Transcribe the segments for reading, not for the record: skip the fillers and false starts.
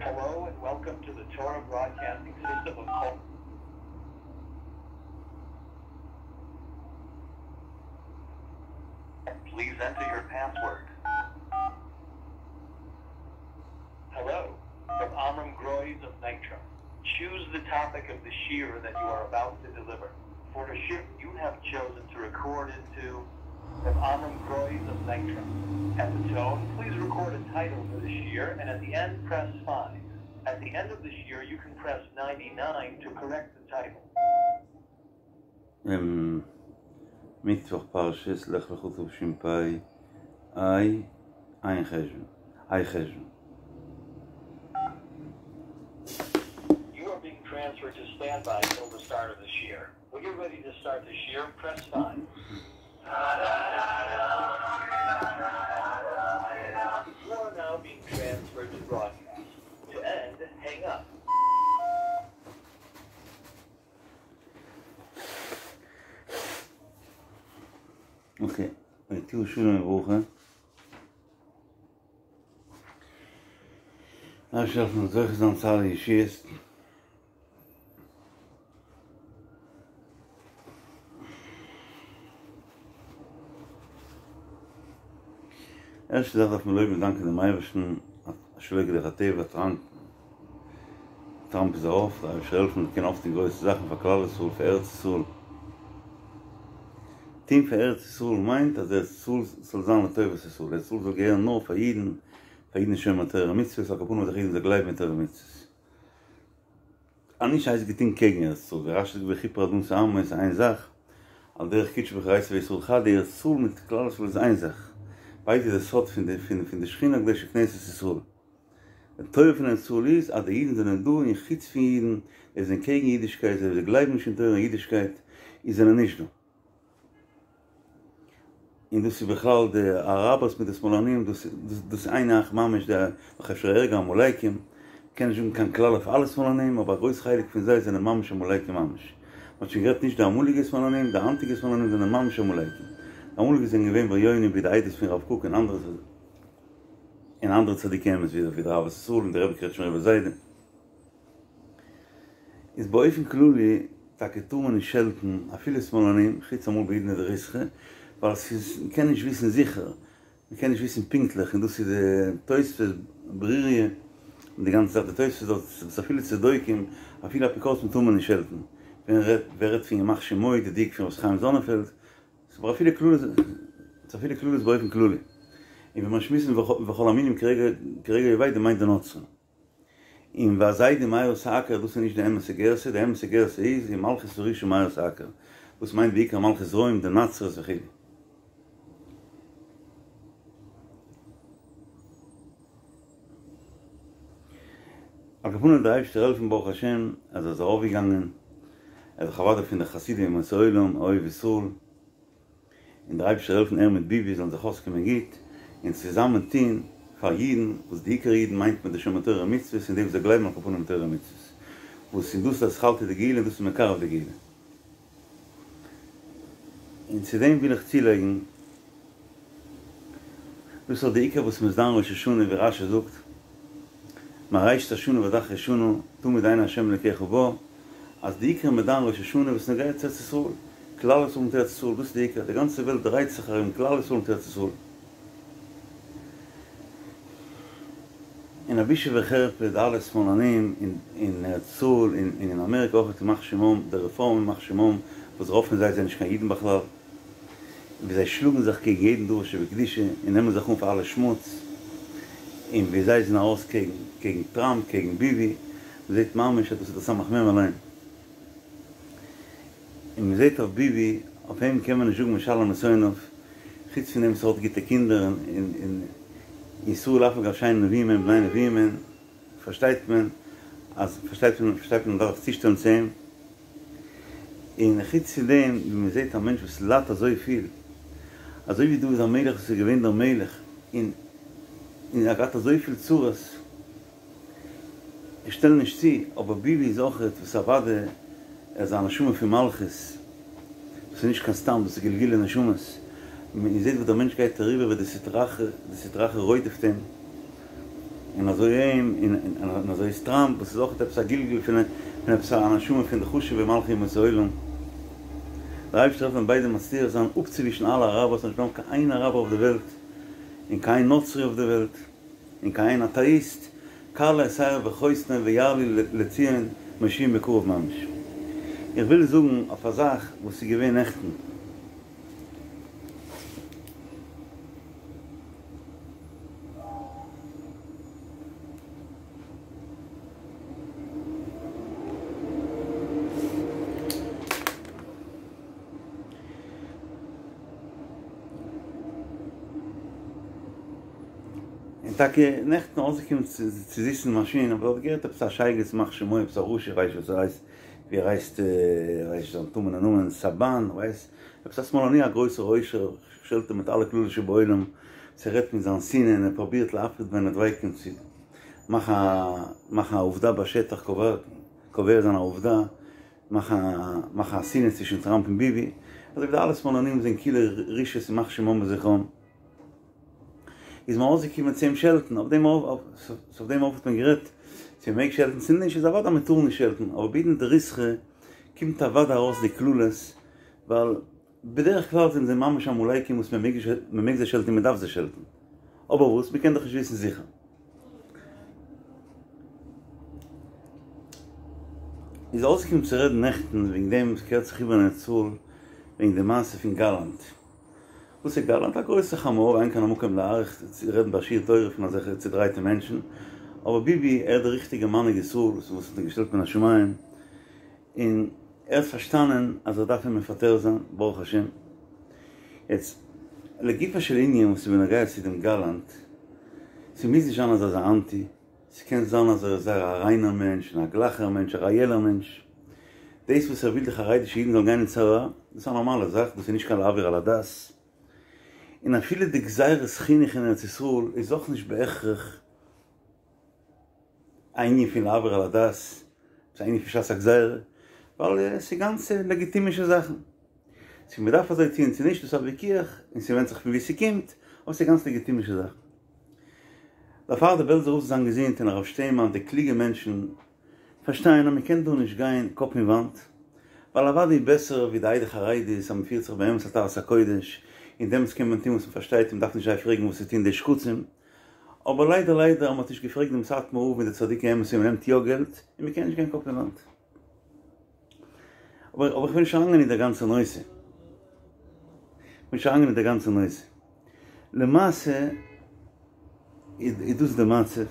Hello and welcome to the Torah Broadcasting System of Kol. Please enter your password. Hello, from Amram Groys of Nitra. Choose the topic of the shiur that you are about to deliver. For the shiur you have chosen to record into from Amram Groys of Nitra. At the tone, please record a title for the shiur and at the end press 5. At the end of the shiur, you can press 99 to correct the title. מיטוואך פרשת לך לך תשפ ה, ע' חשוון, ה' חשוון. You are being transferred to standby till the start of the shiur. When you're ready to start the shiur, press 5. You are now being transferred to broadcast. To end, hang up. Okay, תהיו שלום וברכה. דער אייבערשטער זאל העלפן זוכה זיין צו אלע ישועות. ערשטע זאך דארף מען לויבן און דאנקען דעם אייבערשטן אז שלא כדרך הטבע טראמפ טראמפ איז ארויף, דער אייבערשטער זאל העלפן ער קען אויפטון גרויסע זאכן פאר כלל ישראל פאר ארץ ישראל. טון פאר ארץ ישראל מיינט אז ארץ ישראל זאל זיין לטובת ישראל, ארץ ישראל זאל געהערן נאר פאר אידן, פאר אידן שומרי תורה ומצוות, על כל פנים אז אידן זאל גלייבן אין תורה ומצוות. אז נישט הייסט געטון קעגן ארץ ישראל, ווי רשי זאגט וכיפר אדמת עמו איז איין זאך, על דרך קודשא בריך הוא אורייתא וישראל חד, ארץ ישראל מיט כלל ישראל איז איין זאך, ביידע איז די סוד פון די פון די שכינה הקדושה כנסת ישראל. די טובה פון ארץ ישראל איז אז די אידן זענען דא און חוץ פון אידן, זיי זענען קעגן אידישקייט, זיי גלייבן נישט אין תורה און אידישקייט, און זענען נישט דא. און דאס איז בכלל די אראבערס מיט די שמאלנים, דאס דאס איז איין זאך ממש, די נאך אפשר ערגער עמלקים, מ'קען נישט זאגן קיין כלל אויף אלע שמאלנים, אבער א גרויס חלק פון זיי זענען ממש עמלקים ממש. מ'האט שוין גערעדט נישט די אמאליגע שמאלנים, די היינטיגע שמאלנים זענען ממש עמלקים. די אמאליגע זענען געווען בריונים ווי די עדות פון רב קוק און אנדערע און אנדערע צדיקי אמת ווי דער אהבת ישראל און דער רבי קרעטשמער רבי זיידע. איז באופן כללי טאקע טאר מען נישט שעלטן אפילו שמאלנים, חוץ אמאל בעידנא דריתחא, ווייל ס'איז מ'קען נישט וויסן זיכער, מ'קען נישט וויסן פונקטליך, און דאס איז די תוספות ברוריה, און די גאנצע זאך די תוספות דארט אז אפילו צדוקים, אפילו אפיקורסים טאר מען נישט שעלטן, ווער רעדט פון ימח שמו, די דיוק פון ר' חיים זאנענפעלד, ס'איז אבער אפילו קללות, ס'איז אפילו קללות באופן כללי, און ווען מיר שמועסן וכל המינים כרגע יאבדו מיינט די נוצרים. און והזדים מיער תעקר דאס איז נישט די אמת'ע גירסא, די אמת'ע גירסא איז ומלכות הרשעה מהר תעקר, וואס מיינט בעיקר מלכות רוים, די נצרות וכו'. על כל פנים דער אייבשטער העלפן ברוך השם אז ער איז ארויפגעגאנגען, ער איז דאך אוודאי פון די חסידי אומות העולם, אוהב ישראל, און דער אייבערשטער העלפן ער מיט ביבי זאלן זיך אויסקומען גוט, און צוזאמען טון פאר אידן, וואס די עיקר אידן מיינט מען די שומרי תורה ומצוות און די וואס זיי גלייבן על כל פנים אין תורה ומצוות, וואס און דאס איז אתחלתא דגאולה און דאס איז מקרב די גאולה. און צו דעם וויל איך צולייגן, דאס איז די עיקר וואס מ'איז דן ראש השנה ווי רשי זאגט, מראשית השנה ועד אחרית שנה, תמיד עיני ה' אלקיך בה, אז די עיקר מ'איז דן ראש השנה וואס נוגע צו ארץ ישראל, כלל ישראל מיט ארץ ישראל, דאס איז די עיקר, די גאנצע וועלט דרייט זיך ארום כלל ישראל מיט ארץ ישראל. און א בושה וחרפה די אלע שמאלנים אין ארץ ישראל און אין אמעריקע אויך ימח שמם, די רעפארם ימח שמם, וואס רוב פון זיי זענען נישט קיין אידן בכלל, ווי זיי שלאגן זיך קעגן יעדן דבר שבקדושה און נעמען זיך אן פאר אלע שמוץ, און ווי זיי זענען ארויס קעגן קעגן טראמפ קעגן ביבי, מען זעט ממש אז דאס איז דער סמך מם אליין. און מען זעט אויף ביבי, אויף אים קען מען נישט זאגן משלם לשונאיו, חוץ פון דעם וואס ער האט גוטע קינדער און און ישראל אף על גב שאין נביאים הם בני נביאים הם, פארשטייט מען אז פארשטייט מען פארשטייט מען מ'דארף זיך צושטעלן צו אים. און חוץ פון דעם ווי מען זעט א מענטש וואס ליידט אזויפיל, אזוי ווי דוד המלך וואס איז געווען דער מלך און און ער האט געהאט אזויפיל צרות, איך שטעל נישט צו, אבער ביבי איז אויכעט וואס אוודאי ער איז א נשמה פון מלכות, דאס איז נישט קיין סתם, דאס איז גלגולי נשמות, מען זעט וואס דער מענטש גייט אריבער ווי די סטרא אחרא, די סטרא אחרא רודפ'ט אים. און אזוי אים און אזוי איז טראמפ וואס איז אויך עפעס א גלגול פון עפעס א נשמה פון די חשוב'ע מלכי אומות העולם. דער אייבערשטער זאל העלפן ביידע מצליח זיין אפצוווישן אלע אראבער ס'זאל נישט בלייבן קיין איין אראבער אויף די וועלט און קיין איין נוצרי אויף די וועלט און קיין איין אטעאיסט, כלה את שערו בחותנו ויעלו לציון מושיען בקרוב ממש. איך וויל זאגן אויף א זאך וואס איז געווען נעכטן. און טאקע נעכטן אויסגעקומען צו זיצן אין מאשין האב איך דארט געהערט עפעס א שייגעץ ימח שמו עפעס א רשע איך ווייס נישט וואס ער הייסט ווי ער הייסט איך ווייס נישט זיין טמא'נע נאמען סאבאן איך ווייס עפעס א שמאלני א גרויסער עושר שעלט אים מיט אלע קללות שבעולם ס'רעדט מיט זיין שנאה און ער פרובירט להפריד בין הדבקים צו מאכן א מאכן א עובדה בשטח קובע קובע זיין א עובדה מאכן א מאכן א שנאה צווישן טראמפ און ביבי אזוי ווי די אלע שמאלנים זענען כולו רשעות ימח שמם וזכרם. איז מען אויסגעקומען צו אים שעלטן, אויף דעם אויף דעם אויף האט מען גערעדט צו מען מעג שעלטן צו נישט, איז אוודאי מען טאר נישט שעלטן, אבער בעידנא דריתחא קומט אוודאי ארויס די קללות, ווייל בדרך כלל זענען זיי ממש עמלקים וואס מען מעג מען מעג זיי שעלטן און מען דארף זיי שעלטן, אבער וואס מען קען דאך נישט וויסן זיכער. איז אויסגעקומען צו רעדן נעכטן וועגן דעם וואס קערט זיך איבער אין ארץ ישראל וועגן די מעשה פון גאלאנט. וואס איז גאלאנט? א גרויסע חמור, אין כאן המקום להאריך צו רעדן ביי שיעור תורה פון אזעלכע צודרייטע מענטשן, אבער ביבי ער איז דער ריכטיגער מנהיג ישראל וואס האט אים געשטעלט מן השמים, און ער האט פארשטאנען אז ער דארף אים מפטר זיין, ברוך השם. יעצט, לגופו של ענין וואס איז בנוגע צו דעם גאלאנט, ס'מוז נישט זיין אז ער איז א אנטי, ס'קען זיין אז ער איז זייער א ריינער מענטש און א גלייכער מענטש, א רעאלער מענטש. דאס וואס ער וויל די חרדישע אידן זאלן גיין אין צבא, דאס איז א נארמאלע זאך, דאס איז נישט קיין לעבור על הדת. און אפילו די גזירת חינוך אין ארץ ישראל איז אויך נישט בהכרח א ענין פון לעבור על הדת, ס'איז א ענין פון שעת הגזירה, ווייל ס'איז גאנץ לעגיטימישע זאכן. צו מ'דארף אזוי טוען צו נישט, דאס איז א וויכוח, און ס'ווענדט זיך פון וואו ס'קומט, אבער ס'איז גאנץ לעגיטימישע זאכן. דערפאר די בעלזער רב זאל זיין געזונט און הרב שטיינמאן די קלוגע מענטשן פארשטייען אז מ'קען דא נישט גיין קאפ אין וואנט, ווייל אוודאי בעסער ווי די עדה חרדית אז מ'פירט זיך באמת על טהרת הקודש, און דעמאלטס קען מען טון וואס מ'פארשטייט און מ'דארף נישט זיי פרעגן וואס צו טון די שקצים. אבער ליידער ליידער אז מ'האט נישט געפרעגט דעם סאטמאר רב און די צדיקי אמת און מ'נעמט יא געלט, און מ'קען נישט גיין קאפ אין וואנט. אבער אבער איך וויל נישט אריינגיין אין די גאנצע נושא. איך וויל נישט אריינגיין אין די גאנצע נושא. למעשה איז דאס די מצב.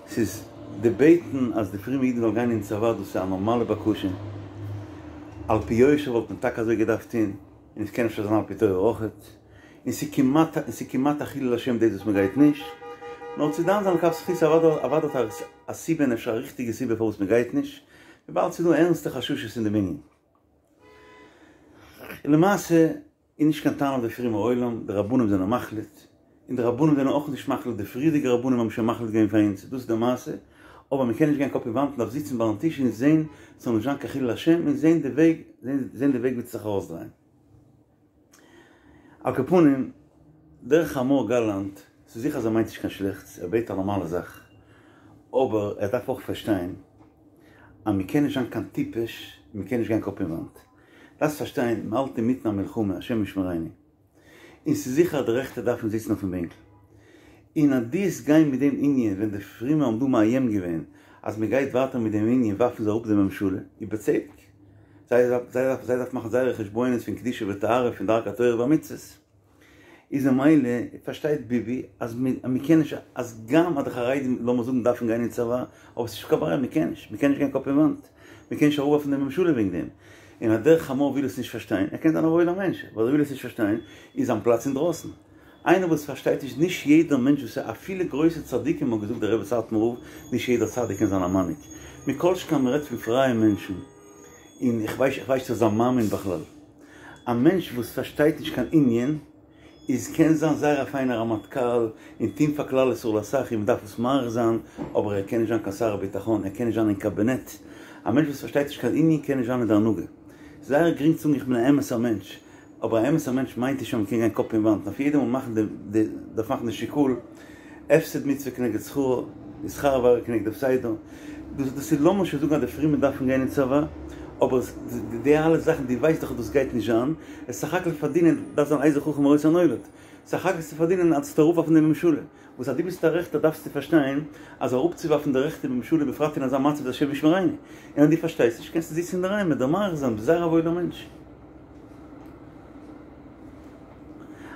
ס'איז די בעטן אז די פרומע אידן זאלן גיין אין צבא דאס איז א נארמאלע בקשה. על פי יושר וואלט מען טאקע אזוי געדארפט טון. און עס קען אפשר זיין על פי תורה אויכעט. און ס'איז כמעט און ס'איז כמעט א חילול השם דאס וואס מ'גייט נישט. נאר צו דן זיין לכף זכות אוודאי אוודאי האט א סיבה און אפשר א ריכטיגע סיבה פארוואס מ'גייט נישט. וויבאלד ס'איז דא ערנסטע חששות אין דעם ענין. און למעשה איז נישט קיין טענה אויף די פרומע עולם, די רבנים זענען מחליט, און די רבנים זענען אויך נישט מחליט, די פריערדיגע רבנים האבן שוין מחליט געווען פאר אונז, דאס איז די מעשה, אבער מ'קען נישט גיין קאפ אין וואנט, מ'דארף זיצן ביים טיש און זען ס'זאל נישט זיין קיין חילול השם, און זען די וועג, זען די וועג ווי צו זיך ארויסדרייען. על כל פנים, דער חמור גאלאנט, ס'איז זיכער אז ער מיינט נישט קיין שלעכטס, ער בעט א נארמאלע זאך, אבער ער דארף אויך פארשטיין אז מ'קען נישט זיין קיין טיפש, און מ'קען נישט גיין קאפ אין וואנט. דארפסט פארשטיין, מ'האלט אינמיטן א מלחמה, השם ישמרינו. און ס'איז זיכער אז די רעכטע דארפן זיצן אויפן בענקל. און אז דו וועסט גיין מיט דעם ענין, ווען די פרומע האבן דא מאיים געווען אז מ'גייט ווייטער מיט דעם ענין ווארפן זיי אראפ די ממשלה, ובצדק. זיי זיי דארפן מאכן זייערע חשבונות פון קדושה וטהרה פון דרכי התורה והמצוות. איז ממילא פארשטייט ביבי אז מ'קען נישט אז גם אז די חרדים לאמיר זאגן דארפן גיין אין צבא, אבער ס'נישט קיין ברירה מ'קען נישט, מ'קען נישט גיין קאפ אין וואנט, מ'קען נישט אראפווארפן די ממשלה וועגן דעם. און אז דער חמור וויל עס נישט פארשטיין, ער קען זיין א וואוילער מענטש, אבער ער וויל עס נישט פארשטיין, איז זיין פלאץ אינדרויסן. איינער וואס פארשטייט נישט, נישט יעדער מענטש וואס איז אפילו גרויסע צדיקים האט געזאגט דער רבי סאטמאר רב, נישט יעדער צדיק קען זיין א מנהיג. מכל שכן מ'רעדט פון פרייע מענטשן, און איך ווייס איך ווייס נישט צו ער איז א מאמין בכלל. א מענטש וואס פארשטייט נישט קיין ענין, איז קען זיין זייער א פיינער רמטכ"ל און טוהן פאר כלל ישראל אסאך און מ'דארף עס מעריך זיין, אבער ער קען נישט זיין קיין שר הביטחון, ער קען נישט זיין אין קאבינעט. א מענטש וואס פארשטייט נישט קיין ענין קען נישט זיין אין די הנהגה. זייער גרינג צו זאגן איך בין א אמת'ער מענטש, אבער א אמת'ער מענטש מיינט נישט אז מ'קען גיין קאפ אין וואנט, דארף יעדער מאל מאכן די דארף מאכן די שיקול. הפסד מצוה כנגד שכרו, און שכר עבירה כנגד הפסדו, דאס דאס איז לאמיר שוין זאגן אז די פרומע דארפן גיין אין צבא, אבער די אלע זאכן דו ווייסט דאך אז דאס גייט נישט זיין, עס סך הכל פארדינען דארף זיין איזה חכם הרואה את הנולד, סך הכל צו פארדינען אז צו אראפווארפן די ממשלה, וואס אז דו ביסט א רעכטער דארפסטו פארשטיין אז אראפצואווארפן די רעכטע ממשלה בפרט אין אזא מצב איז השם ישמרינו, און אז דו פארשטייסט נישט קענסטו זיצן אינדערהיים מיט דער מאריך זיין, ביסט זייער א וואוילער מענטש.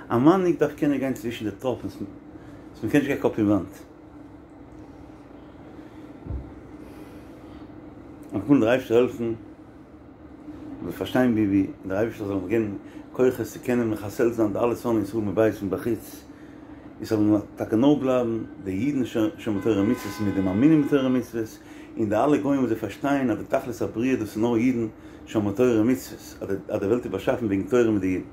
א מנהיג דארף קענען גיין צווישן די טראפנס, מען קען נישט גיין קאפ אין וואנט. על כל פנים דער אייבערשטער העלפן מ'זאל פארשטיין ווי ווי דער אייבערשטער זאל אונז געבן כוחות צו קענען מחסל זיין די אלע שונאי ישראל מבית ומבחוץ, עס זאלן טאקע נאר בלייבן די אידן שומרי תורה ומצוות מיט די מאמינים בתורה ומצוות, און די אלע גוים וואס זיי פארשטייען אז די תכלית הבריאה דאס איז נאר אידן שומרי תורה ומצוות, אז די וועלט איז באשאפן וועגן תורה מיט די אידן.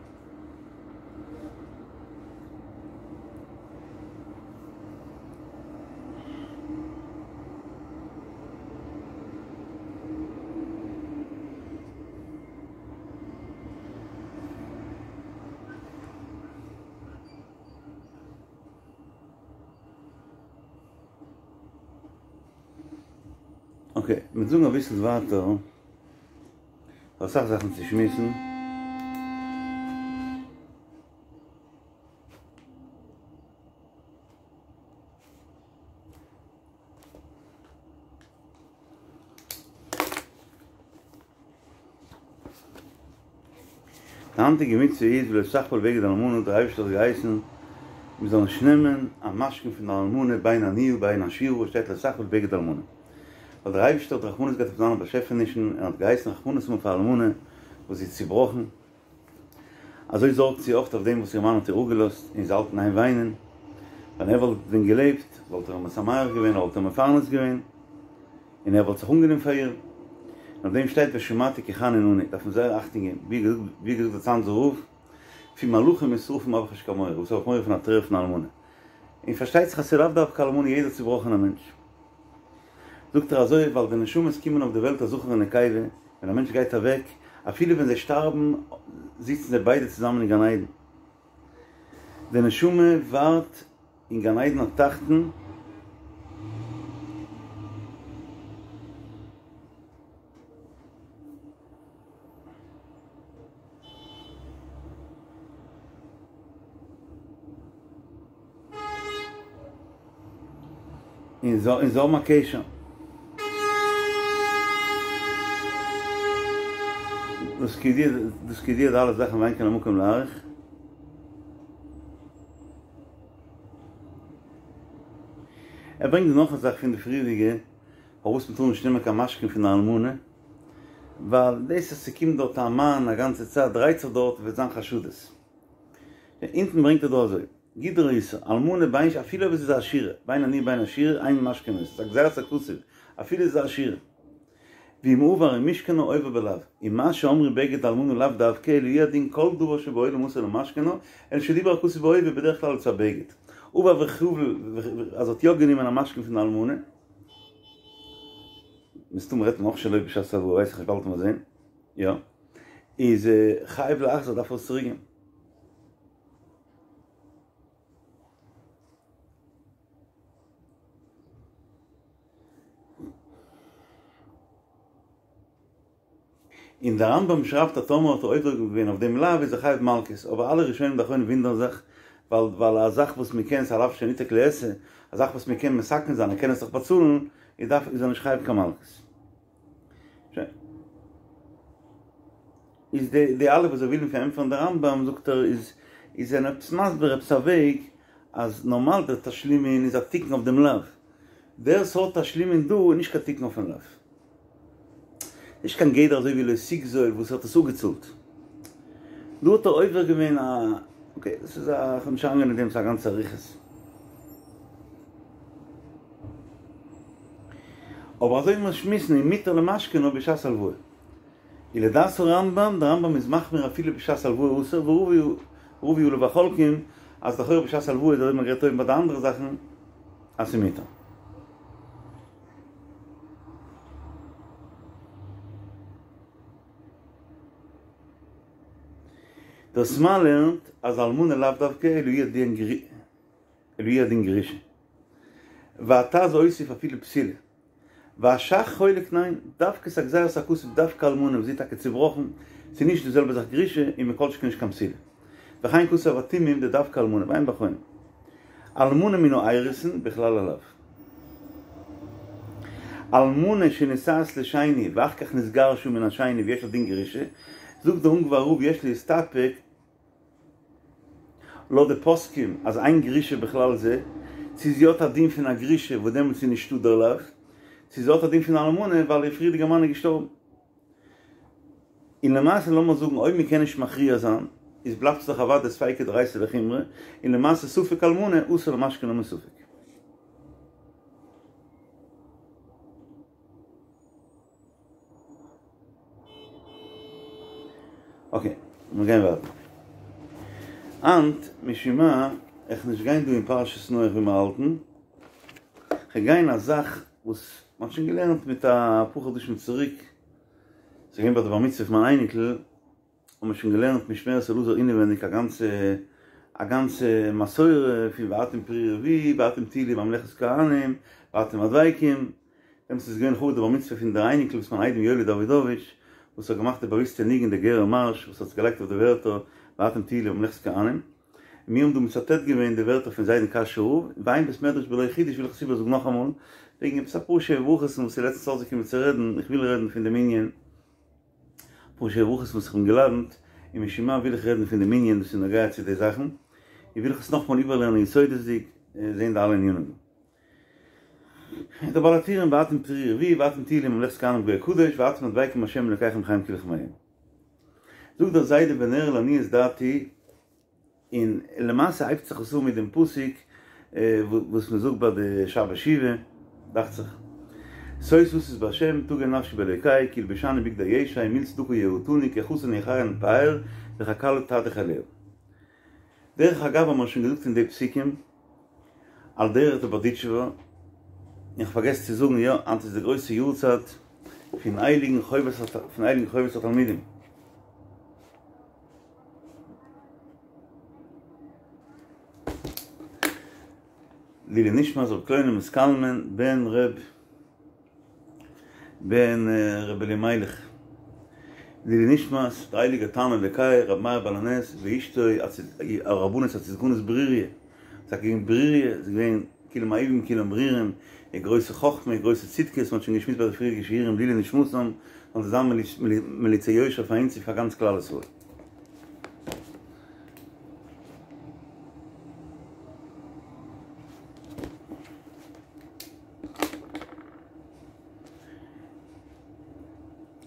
אקעי, מיר זאגן אביסל ווייטער. אסאך זאכן צו שמועסן. די היינטיגע מצוה איז ולא תחבול בגד אלמנה, דער אייבערשטער האט געהייסן מען זאל נישט נעמען א משכון פון די אלמנה בין עניה ובין עשירה, שטייט לא תחבול בגד אלמנה. ווייל דער אייבערשטער האט רחמנות געהאט אויף זיינע באשעפענישן און האט געהייסן רחמנות האבן אויף א אלמנה וואס זי איז צובראכן, אזוי זארגט זי אויך אויף דעם וואס איר מאן האט איר אפגעלאזט און זי האלט אין איין וויינען, ווען ער וואלט ווען געלעבט וואלט ער איר משמח געווען, ער וואלט איר מפרנס געווען, און ער וואלט זיך אנגענומען פאר איר, און אויף דעם שטייט ושמעתי כי חנון אני, דארף מען זייער אכטונג געבן, ווי געזאגט דער צאנזער רב, פון מלאכים און שרפים האב איך נישט קיין מורא, וואס האב איך מורא פון א טרער פון א אלמנה, און פארשטייט זיך אז ס'איז לאו דווקא אלמנה יעדער צובראכענער מענטש. זאגט ער אזוי ווייל די נשמות קומען אויף די וועלט א זכר און נקבה, ווען א מענטש גייט אוועק, אפילו ווען זיי שטארבן זיצן זיי ביידע צוזאמען אין גן עדן, די נשמה ווארט אין גן עדן התחתון, און זיי האבן א קשר. דאס כידוע די אלע זאכן ואין כאן המקום להאריך. ער ברענגט דא נאך א זאך פון די פריערדיגע, פארוואס מ'טאר נישט נעמען קיין משכון פון די אלמנה, ווייל דאס אז ס'קומט דארט א מאן א גאנצע צייט דרייט זיך דארט וועט זיין חשדות. אונטן ברענגט ער דא אזוי. גדרו איסור, אלמנה בין ש אפילו אויב עס איז א עשירה, בין עניה בין עשירה, אין משכין אותה, ס'איז א גזירת הכתוב, אפילו עס איז א עשירה. ואם עבר ומשכנה עובר בלאו, ומה שאמרו בגד אלמנה לאו דווקא, אלא הוא הדין כל דבר שבעולם אסור למשכנה, אלא שדיבר הכתוב בהווה בדרך כלל אצל בגד. עבר וחבל, אז האט יא גענומען א משכון פון די אלמנה, מסתמא רעדט מען אויך שלא בשעת הלוואה, ווייס איך נישט באלד וועט מען זען, יא, איז חייב להחזיר דארף ער עס צוריק געבן. און דער רמב"ם שרייבט אז טאמער האט ער עובר געווען אויף דעם לאו איז ער חייב מלקות, אבער אלע ראשונים ואחרונים וואונדערן זיך, ווייל ווייל א זאך וואס מען קען, ס'איז א לאו שניתק לעשה, א זאך וואס מען קען מתקן זיין, ער קען עס דאך באצאלן, איז דארף איז ער נישט חייב קיין מלקות. שוין. איז די די אלע וואס זיי ווילן פארענטפערן די רמב"ם זאגט ער איז איז זענען עפעס מסביר עפעס א וועג אז נארמאל דער תשלומין איז א תיקון אויף דעם לאו, דער סארט תשלומין דא איז נישט קיין תיקון אויפן לאו. נישט קיין גדר אזוי ווי לא תגזול וואס האט עס אפגעצאלט. דא האט ער עובר געווען א, אקעי דאס איז א, כ'וועל נישט אריינגיין אין דעם ס'איז א גאנצע אריכות. אבער אזוי ווי מיר שמועסן אם מותר למשכנו בשעת הלוואה. ולדעת הרמב"ם, דער רמב"ם איז מחמיר אפילו בשעת הלוואה אסור, ורבו עליו החולקים אז לכאורה בשעת הלוואה איז אזוי ווי מ'האט גערעדט אויבן ביי די אנדערע זאכן אז ס'איז מותר. דער סמ"ע לערנט אז אלמנה לאו דווקא אלא הוא הדין גרושה. והט"ז הוסיף אפילו בתולה. והש"ך חולק ניין, דווקא ס'איז א גזירת הכתוב דווקא אלמנה וואס זי איז טאקע צובראכן, ס'איז נישט די זעלבע זאך גרושה און מכל שכן נישט קיין בתולה. וכן כתב התומים דדווקא אלמנה, ועיין באחרונים. אלמנה מן האירוסין בכלל הלאו. אלמנה שנישאת לשני ואחר כך נתגרשה מן השני ויש לה דין גרושה, זאגט דער אונגוואר רב יש להסתפק, לויט די פוסקים אז אין גרושה בכלל זה, צו זי האט א דין פון א גרושה וואס דעמאלטס איז נישטא דער לאו, צו זי האט א דין פון אלמנה ווייל איר פריערדיגער מאן איז געשטארבן. און למעשה לאמיר זאגן אויב מען קען נישט מכריע זיין, איז בלייבט עס דאך אוודאי ספיקא דאורייתא לחומרא, און למעשה ספק אלמנה אסור למשכנה מספק. אקעי, מיר גייען ווייטער. היינט, משום מה, איך נישט גיין דא אין פרשת נח ווי מיר האלטן, כ'גיי גיין א זאך וואס מ'האט שוין געלערנט מיט א פאר חדשים צוריק, ס'איז געווען ביי די בר מצוה פון מיין אייניקל, האבן מיר שוין געלערנט משמרת אלעזר אינעווייניג א גאנצע א גאנצע מסורה פון ואתם פרו ורבו ואתם תהיו לי ממלכת כהנים ואתם הדבקים, דעמאלטס איז געווען לכבוד די בר מצוה פון די אייניקל וואס מיין איידעם יואלי דאווידאוויטש וואס האט געמאכט די באוויסטע ניגון די גערער מארש וואס האט זיך געלייגט אויף די ווערטער ואתם תהיו לי ממלכת כהנים, און מיר האבן דא מצטט געווען די ווערטער פון זיידן קאשוי רב, ואין בית מדרש בלא חידוש וויל איך עס איבערזאגן נאכאמאל, וועגן עפעס אפאר שבע ברכות'ן וואס איז לעצטנס אויסגעקומען צו רעדן, איך וויל רעדן פון דעם ענין. אפאר שבע ברכות וואס איך בין געלאדענט, און משום מה וויל איך רעדן פון דעם ענין וואס איז נוגע צו די זאכן, און וויל איך עס נאכאמאל איבערלערנען יסודות'דיג, זען די אלע ענינים דא. דער בעל הטורים ואתם פרו ורבו ואתם תהיו לי ממלכת כהנים גוי קדוש ואתם הדבקים בהשם אלוקיכם חיים כולכם היום. זאגט דער זיידע ונראה לעניות דעתי, און למעשה הייבט זיך עס אן מיט דעם פסוק וואס מען זאגט ביי די שבת שובה, דאכט זיך, שוש אשיש בהשם תגל נפשי באלוקי כי ילבישני בגדי ישע ומעיל צדקה יעטני כחתן יחרן פאר וככלה תדרך אליה. דרך אגב האט מען שוין געזאגט אין די פסוקים על דרך די בארדיטשובער, איך פארגעס צו זאגן יא, היינט איז די גרויסע יארצייט פון הייליגן חובת התלמידים. לעילוי נשמת ר' קלונימוס קלמן בן ר' בן ר' אלימלך לעילוי נשמת דער הייליגער תנא אלקי ר' מאיר בעל הנס ואשתו הרבנית הצדקנית ברוריה, ס'איז געווען ברוריה, ס'איז געווען כולם אהובים כולם ברורים, איר גרויסע חכמה, איר גרויסע צדקות, מ'האט שוין געשמועסט ביי די פריערדיגע שיעורים לעילוי נשמתם, זאלן זיי זיין מליצי יושר פאר אונז און פאר גאנץ כלל ישראל.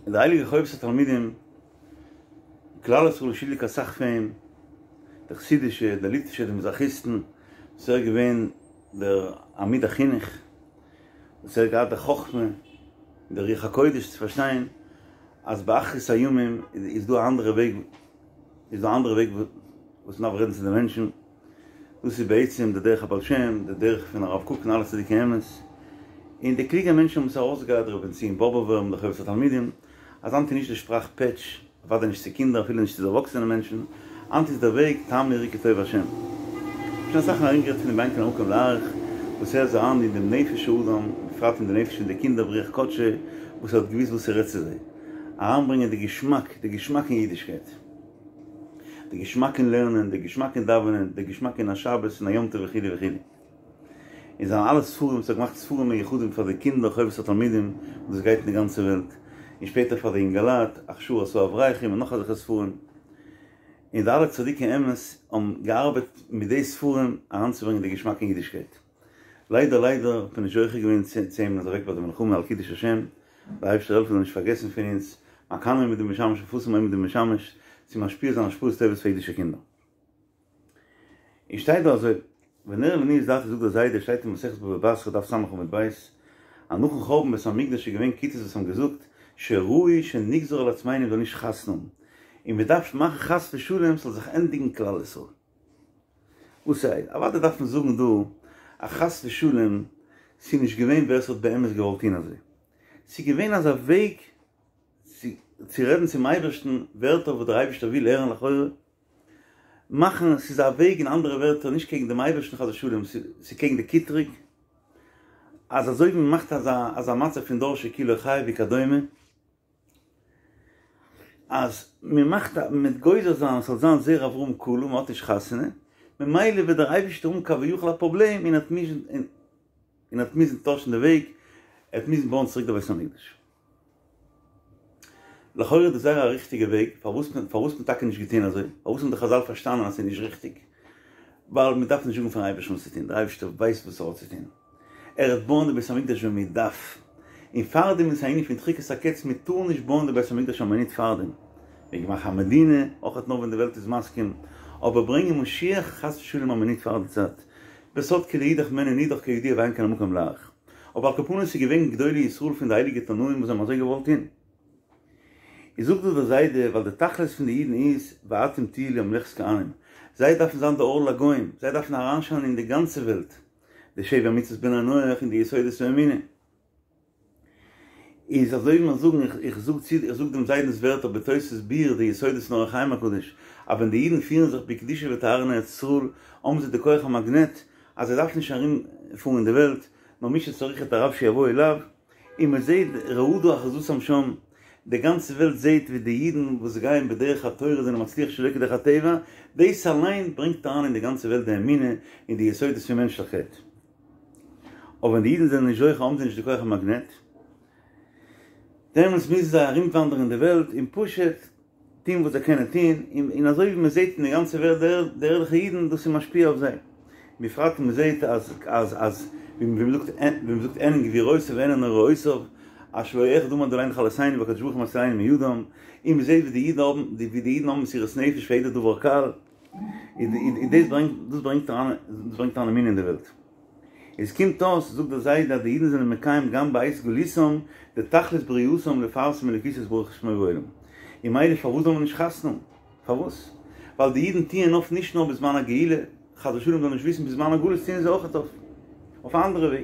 און די הייליגע חובת התלמידים, כלל ישראל איז שולדיג אסאך פאר אים, די חסידישע, די ליטווישע, די מזרחיסטן, וואס ער איז געווען דער עמוד החינוך, וואס ער האט געהאט די חכמה און די רוח הקודש צו פארשטיין אז באחרית הימים איז דא א אנדערע וועג, איז דא א אנדערע וועג וואס מ'דארף רעדן צו די מענטשן, דאס איז בעצם די דרך הבעל שם, די דרך פון הרב קוק און אלע צדיקי אמת, און די קלוגע מענטשן האבן עס ארויסגעהאט, ר' בן ציון באבובער מיט די חובת התלמידים, אז היינט איז נישט די שפראך פעטש, אוודאי נישט צו קינדער אפילו נישט צו די ערוואקסענע מענטשן, היינט איז דער וועג טעמו וראו כי טוב השם. שוין אסאך מאל ארומגערעדט פון דעם ואין כאן המקום להאריך, וואס ער איז אריין אין דעם נפש האדם, בפרט אין די נפש פון די קינדער ברוח קדשו, וואס ער האט געוואוסט וואס ער רעדט צו זיי. אריינברענגען די געשמאק, די געשמאק אין אידישקייט. די געשמאק אין לערנען, די געשמאק אין דאווענען, די געשמאק אין א שבת און א יום טוב וכו' וכו'. אין זיינע אלע ספרים וואס ער האט געמאכט ספרים מיוחדים פאר די קינדער חובת התלמידים וואס דאס גייט אין די גאנצע וועלט, און שפעטער פאר די אינגעלייט הכשרת האברכים און נאך אזעלכע ספרים, און די אלע צדיקי אמת האבן געארבעט מיט די ספרים אריינצוברענגען די געשמאק אין אידישקייט. ליידער ליידער האט מען נישט זוכה געווען צו אים, ער איז אוועק ביי די מלחמה על קידוש השם, דער אייבערשטער העלפן זאל נישט פארגעסן פון אונז, מקנאים מיט דעם משמש מפורסם מיט דעם משמש, צו משפיע זיין השפעות טובות פאר אידישע קינדער. און שטייט דא אזוי, ונראה לעניות דעתי זאגט דער זיידע, שטייט אין מסכת בבא בתרא דף ס' עמוד ב', אז נאכן חורבן בית המקדש איז געווען כיתות וואס האבן געזאגט שראוי שנגזור על עצמינו מ'זאל נישט חתונה האבן, און מען דארף מאכן חס ושלום ס'זאל זיך ענדיגן כלל ישראל. וואס הייסט? אוודאי דארף מען זאגן דא אז חס ושלום ס'איז נישט געווען ווער ס'האט באמת געוואלט טון אזוי, ס'איז געווען אזא וועג צו רעדן צום אייבערשטן ווערטער וואס דער אייבערשטער וויל הערן לכאורה, מאכן, ס'איז א וועג אין אנדערע ווערטער נישט קעגן דעם אייבערשטן חס ושלום, ס'איז קעגן די קטרוג. אז אזוי ווי מ'מאכט אזא אזא מצב פון דור שכולו חייב וכדומה, אז מ'מאכט א מ'וועט גוזר זיין אז ס'זאל זיין זרע אברהם כלה, מ'האט נישט חתונה, ממילא וועט דער אייבערשטער האבן כביכול א פראבלעם און ער וועט מוזן און ער וועט מוזן טוישן די וועג, ער וועט מוזן בויען צוריק די בית המקדש. לכאורה איז דאס זייער א ריכטיגע וועג, פארוואס פארוואס האט מען טאקע נישט געטון אזוי? פארוואס האבן די חזל פארשטאנען אז ס'איז נישט ריכטיג? ווייל מען דארף נישט זאגן פארן אייבערשטן וואס צו טון, דער אייבערשטער ווייסט וואס ער האט צו טון, ער וועט בויען די בית המקדש ווען מען דארף, און פארדעם איז א ענין פון דחיקת הקץ, מען טאר נישט בויען די בית המקדש א מינוט פארדעם, מען מעג מאכן א מדינה, אויכעט נאר ווען די וועלט איז מסכים, אבער ברענגען משיח חס ושלום א מינוט פאר די צייט, בסוד כי לאידך מעין נידח כידוע ואין כאן המקום להאריך. אבער על כל פנים ס'איז געווען גדולי ישראל פון די הייליגע תנאים וואס האבן אזוי געוואלט טון. איז זאגט דא דער זיידע ווייל די תכלית פון די אידן איז ואתם תהיו לי ממלכת כהנים, זיי דארפן זיין די אור לגוים, זיי דארפן אריינשיינען אין די גאנצע וועלט, די שבע מצוות בני נח און די יסודות האמונה. איז אזוי ווי מיר זאגן, איך זאג צו, איך זאג דעם זיידנ'ס ווערטער בתוס' ביאור די יסודות אין אור החיים הקדוש, אז ווען די אידן פירן זיך בקדושה וטהרה אין ארץ ישראל, האבן זיי די כח המאגנעט, אז זיי דארפן נישט ארום פארן אין די וועלט, נאר מי שצריך את הרב שיבוא אליו, און מען זעט רעדה אחוזתם שם, די גאנצע וועלט זעט ווי די אידן וואס גייען בדרך התורה זענען מצליח שלא כדרך הטבע, דאס אליין ברענגט אריין אין די גאנצע וועלט די אמונה און די יסודות פון מענטשליכקייט. אבער ווען די אידן זענען נישט זוכה האבן זיי נישט די כח המאגנעט, דעמאלטס מוזן זיי ארומוואנדערן אין די וועלט און פשוט טון וואס זיי קענען טון, און אזוי ווי מען זעט אין די גאנצע וועלט די ערליכע אידן, דאס איז משפיע אויף זיי, בפרט ווען מען זעט אז אז אז ווי מען זאגט ווי מען זאגט הן גבורותיו והן נוראותיו, אשר לא אחד עמד עלינו לכלותינו והקדוש ברוך הוא מצילנו מידם, און מען זעט ווי די אידן האבן ווי די אידן האבן מסירות נפש פאר יעדע דבר קל. איז דאס ברענגט דאס ברענגט אריין דאס ברענגט אריין אמונה אין די וועלט. עס קומט אויס זאגט דער זיידע אז די אידן זענען מקיים גם בעת גלותם די תכלית בריאתם לפרסם אלוקותו יתברך שמו בעולם. און ממילא פארוואס זאל מען נישט חתונה האבן? פארוואס? ווייל די אידן טוען אויף נישט נאר בזמן הגאולה, חס ושלום זאל נישט וויסן בזמן הגלות טוען זיי אויכעט אויף אויף א אנדערע וועג.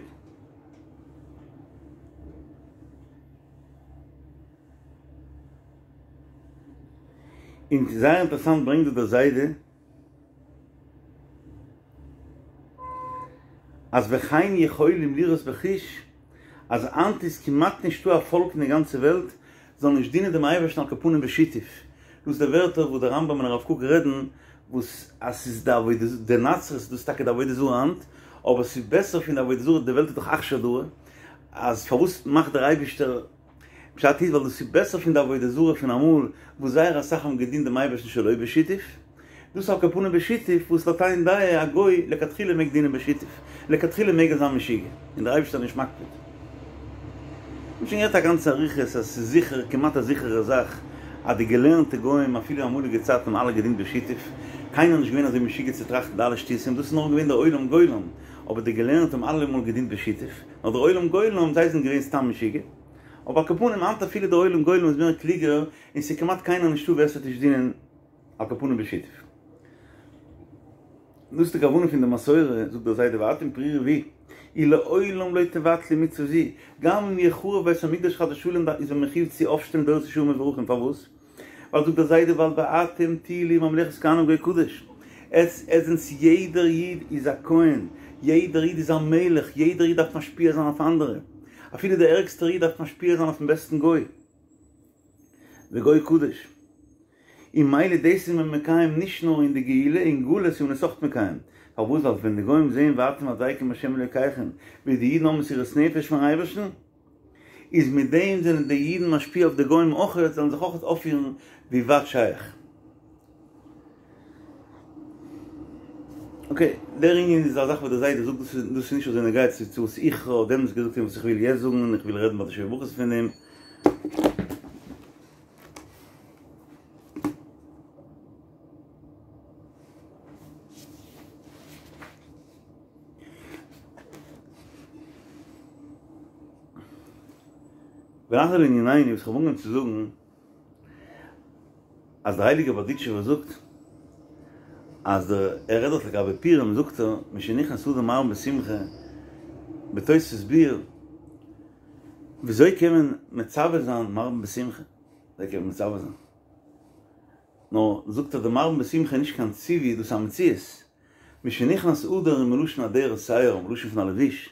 און זייער אינטערעסאנט ברענגט דא דער זיידע אז וכן יכולים לראות בחוש אז היינט איז כמעט נישטא א פאלק אין די גאנצע וועלט זאל נישט דינען דעם אייבערשטן על כל פנים בשיתוף, דאס איז די ווערטער וואס דער רמב"ם און הרב קוק רעדן וואס אז ס'איז די עבודה די נצרות דאס איז טאקע די עבודה זרה היינט אבער ס'איז בעסער פון די עבודה זרה די וועלט איז דאך אכשר דרא אז פארוואס מאכט דער אייבערשטער פשט איז ווייל דאס איז בעסער פון די עבודה זרה פון אמאל וואס זייער אסאך האבן געדינט דעם אייבערשטן שלא בשיתוף, דאס על כל פנים בשיתוף וואס לויט איין דעה א גוי לכתחילה מעג דינען בשיתוף, לכתחילה מעג ער זיין משוגע און דער אייבערשטער איז נישט מקפיד. מ'האט שוין גערעדט א גאנצע אריכות אז ס'איז זיכער, כמעט א זיכערע זאך, אז די געלערנטע גוים אפילו אמאליגע צייטן האבן אלע געדינט בשיתוף, קיינער איז נישט געווען אזוי משוגע צו טראכטן די אלע שטותים, דאס איז נאר געווען דער עולם גולם, אבער די געלערנטע האבן אלעמאל געדינט בשיתוף. נאר דער עולם גולם, זיי זענען געווען סתם משוגע. אבער על כל פנים היינט אפילו דער עולם גולם איז מער קלוגער, און ס'איז כמעט קיינער נישטא ווער ס'וועט נישט דינען על כל פנים בשיתוף. דאס איז די כוונה פון די מסורה, זאגט דער זיידע ואתם פרו ורבו, ולעולם לא תבטלו מצוה זו, גם אם יחרב בית המקדש חס ושלום איז מען מחיוב צו אויפשטעלן דורות ישרים מבורכים, פארוואס? ווייל זאגט דער זיידע ווייל ואתם תהיו לי ממלכת כהנים וגוי קדוש, עטס זענטס יעדער איד איז א כהן, יעדער איד איז א מלך, יעדער איד דארף משפיע זיין אויף אנדערע, אפילו דער ערגסטער איד דארף משפיע זיין אויפן בעסטן גוי, וגוי קדוש, און ממילא דאס איז מען מקיים נישט נאר אין די גאולה, אין גלות איז מען עס אויך מקיים, פארוואס ווייל ווען די גוים זעען ואתם הדבקים בהשם אלוקיכם, ווי די אידן האבן מסירות נפש פארן אייבערשטן, איז מיט דעם זענען די אידן משפיע אויף די גוים אויכעט, זאלן זיך אויכעט אויפפירן ווי ווייט שייך. אקעי, דער ענין איז א זאך וואס דער זיידע זאגט, דאס איז דאס איז נישט אזוי נוגע צו צו וואס איך האב דעמאלטס געזאגט און וואס איך וויל יעצט זאגן און איך וויל רעדן ביי די שבע ברכות פון דעם. ונחזור לענינינו וואס כ'האב אנגעהויבן צו זאגן אז דער הייליגער בארדיטשובער זאגט אז דער ער רעדט דארט לגבי פורים זאגט ער משנכנס אדר מרבין בשמחה בתוספות ביאור וויאזוי קען מען מצווה זיין מרבין בשמחה וויאזוי קען מען מצווה זיין נאר זאגט ער די מרבין בשמחה איז נישט קיין ציווי דאס איז א מציאות משנכנס אדר איז מלשון אדרת שער מלשון פון א לבוש.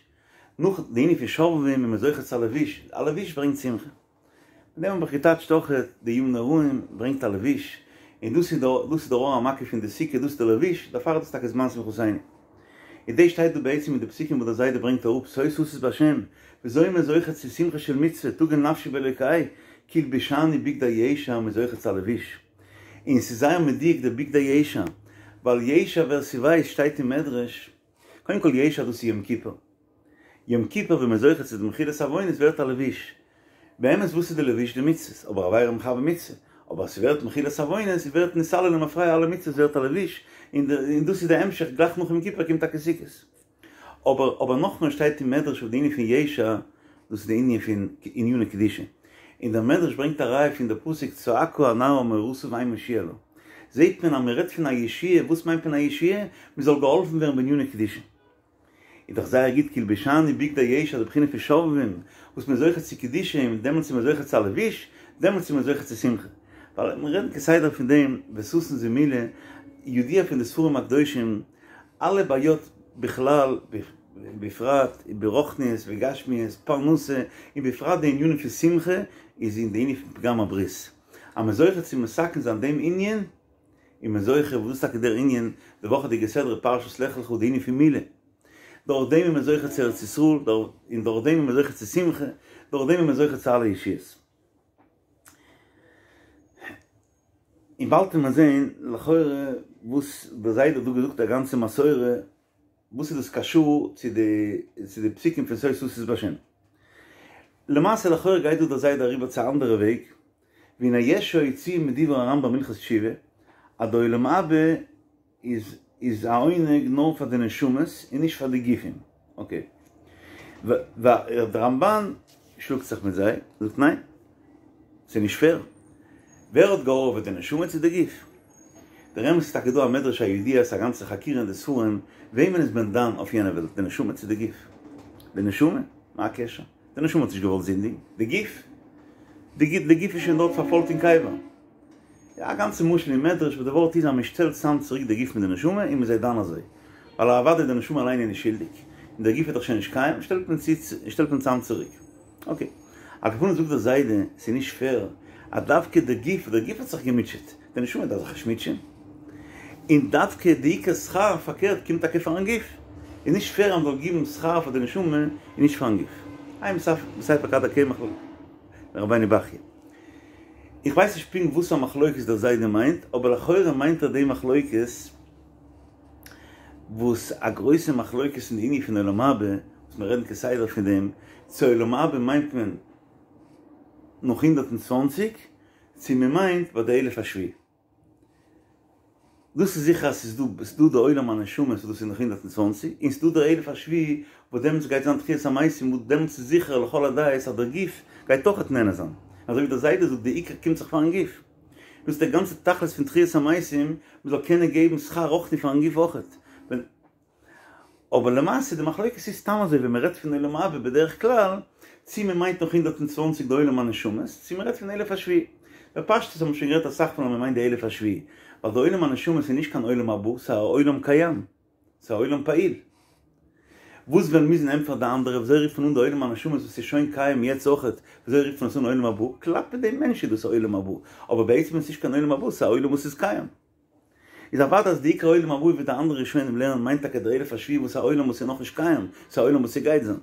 נאך די ענין פון שובבים איז מען זוכה צו א לבוש, א לבוש ברענגט שמחה. מיט דעם האב איך געטייטשט אויך די ימים נוראים ברענגט א לבוש, און דאס איז דאס איז דער אור המקיף פון די סוכה, דאס איז דער לבוש, דערפאר איז דאס טאקע זמן שמחתינו. און דאס שטייט דא בעצם אין די פסוקים וואס דער זיידע ברענגט אראפ, שא תשיש בהשם, וויאזוי איז מען זוכה צו שמחה של מצוה, תגל נפשי באלוקי, כי הלבישני בגדי ישע, מען איז זוכה צו א לבוש. און ס'איז זייער מדויק דער בגדי ישע, ווייל ישע ווער ס'ווייסט שטייט אין מדרש, קודם כל ישע דאס איז יום כיפור, יום כיפור ווען מ'איז זוכה צו די מחילת עוונות ווערט א לבוש, באמת וואס איז די לבוש? די מצוות, אבער עבירה מכבה מצוה, אבער אז ס'ווערט מחילת עוונות ווערט נתעלה למפרע אלע מצוות ווערט א לבוש, און דאס איז די המשך גלייך נאך יום כיפור קומט טאקע סוכות. אבער אבער נאכמער שטייט אין מדרש אויף די ענין פון ישע, דאס איז די ענין פון עניני קדושה, און דער מדרש ברענגט א ראיה פון די פסוק צעקה הנערה מורתה ואין מושיע לה, זעט מען אז מען רעדט פון א ישועה, וואס מיינט מען א ישועה? מען זאל געהאלפן ווערן בעניני קדושה. איז דאך זייער גוט כי הלבישני בגדי ישע די בחינה פון שובבים, וואס מען איז זוכה צו קדושה און דעמאלטס איז מען זוכה צו א לבוש, דעמאלטס איז מען זוכה צו שמחה. ווייל מיר רעדן כסדר פון דעם וששון זמולה, ידוע פון די ספרים הקדושים, אלע בעיות בכלל, בפרט ברוחניות וגשמיות, פרנסה, און בפרט די ענינים פון שמחה, איז אין די ענין פון פגם הברית. אז מ'איז זוכה צו מתקן זיין דעם ענין, איז מען זוכה, וואס איז טאקע דער ענין, די וואכעדיגע סדרה פרשת לך לך די ענין פון מילה. דורך דעם איז מען זוכה צו ארץ ישראל, און דורך דעם איז מען זוכה צו שמחה, דורך דעם איז מען זוכה צו אלע ישועות. און באלד וועט מען זען לכאורה וואס דער זיידע האט דא געזאגט א גאנצע מסורה, וואס איז דאס קשור צו די צו די פסוקים פון שא תשיש בהשם. למעשה לכאורה גייט דא דער זיידע אריבער צו א אנדערע וועג, והנה יש שהוציאו מדברי הרמב"ם הלכות תשובה, אז די עולם הבא איז איז א עונג נאר פאר די נשמות און נישט פאר די גופים. אקעי. דער רמב"ן שלאגט זיך מיט זיי, זאגט ניין, ס'איז נישט פעיר. ווער האט געהארעוועט די נשמה צו די גוף? דער אמת איז טאקע דא א מדרש הידוע, ס'איז א גאנצע חקירה אין די ספרים, וועמען איז מען דן אויף יענע וועלט, די נשמה צו די גוף? די נשמה? מה הקשר? די נשמה האט נישט געוואלט זינדיגן, די גוף? די גוף איז שוין דארט פארפוילט אין קבר. א גאנצע משל אין מדרש וואס די ווארט איז אז מען שטעלט צאם צוריק די גוף מיט די נשמה און מען איז זיי דן אזוי. ווייל אוודאי די נשמה אליין איז נישט שולדיג, און דער גוף איז דאך שוין נישט קיים, שטעלט מען צו שטעלט מען צאם צוריק. אקעי. על כל פנים זאגט דער זיידע, ס'איז נישט פעיר אז דווקא די גוף, דער גוף האט זיך געמוטשעט, די נשמה דארף זיך נישט מוטשען. און דווקא די עיקר שכר פארקערט קומט טאקע פארן גוף. איז נישט פעיר אז מ'זאל גיבן שכר פאר די נשמה און נישט פארן גוף. עיין בספר כד הקמח לרבינו בחיי. איך ווייס נישט פונקט וואס א מחלוקת דער זיידע מיינט, אבער לכאורה מיינט ער די מחלוקת וואס א גרויסע מחלוקת אין די ענין פון עולם הבא, וואס מיר רעדן כסדר פון דעם, צו עולם הבא מיינט מען נאך 120, צו מען מיינט ביי די אלף השביעי. דאס איז זיכער אז ס'איז דא, ס'איז דא די עולם הנשמות וואס דאס איז נאך 120, און ס'איז דא דער אלף השביעי וואס דעמאלטס גייט זיין תחיית המתים וואס דעמאלטס איז זיכער לכל הדעות אז דער גוף גייט אויכעט נהנה זיין, אזוי ווי דער זיידע זאגט די עיקר קומט זיך פארן גוף. דאס איז דער גאנצע תכלית פון תחיית המתים, מ'זאל קענען געבן שכר רוחני פארן גוף אויכעט. אבער למעשה די מחלוקת איז סתם אזוי ווען מען רעדט פון עולם הבא בדרך כלל, צי מען מיינט נאך 120 די עולם הנשמות, צי מען רעדט פון אלף השביעי. בפשטות האט מען שוין גערעדט אסאך מאל אז מען מיינט די אלף השביעי, ווייל די עולם הנשמות איז נישט קיין עולם הבא, ס'איז א עולם קיים, ס'איז א עולם פעיל. וואס וועלן מוזן ענטפערן די אנדערע, וויאזוי רופט מען אן די עולם הנשמות וואס איז שוין קיים יעצט אויכעט, וויאזוי רופט מען עס אן עולם הבא? כלפי דעם מענטש איז דאס א עולם הבא, אבער בעצם איז עס נישט קיין עולם הבא, ס'איז א עולם וואס איז קיים. איז אוודאי אז די עיקר עולם הבא ווי די אנדערע ראשונים לערנען מיינט טאקע דער אלף השביעי וואס איז א עולם וואס איז נאכנישט קיים, ס'איז א עולם וואס ס'גייט זיין.